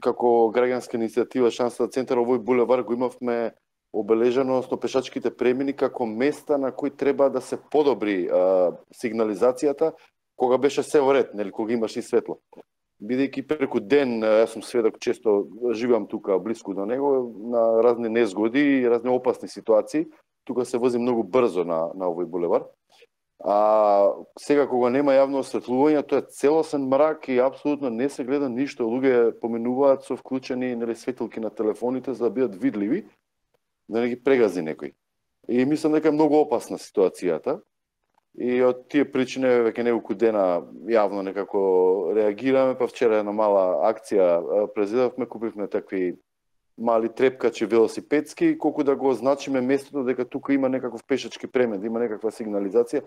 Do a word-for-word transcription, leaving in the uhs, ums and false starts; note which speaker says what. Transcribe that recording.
Speaker 1: како граѓанска иницијатива Шанса центар овој булевар го имавме обележано со пешачките премини како места на кои треба да се подобри а, сигнализацијата кога беше се во ред, нели, кога имаш и светло. Бидејќи преку ден, јас сум сведок, често живеам тука блиску до него, на разни незгоди и разни опасни ситуации. Тука се вози многу брзо на, на овој булевар. А сега кога нема јавно осветлување, тоа е целосен мрак и апсолутно не се гледа ништо. Луѓе поминуваат со вклучени, нели, светилки на телефоните за да бидат видливи, да не ги прегази некој. И мислам дека е многу опасна ситуацијата. И од тие причини веќе неколку дена јавно некако реагираме, па вчера една мала акција презедавме, купивме такви мали трепкачи велосипедски, колку да го означиме местото дека тука има некаков пешачки премен, да има некаква сигнализација,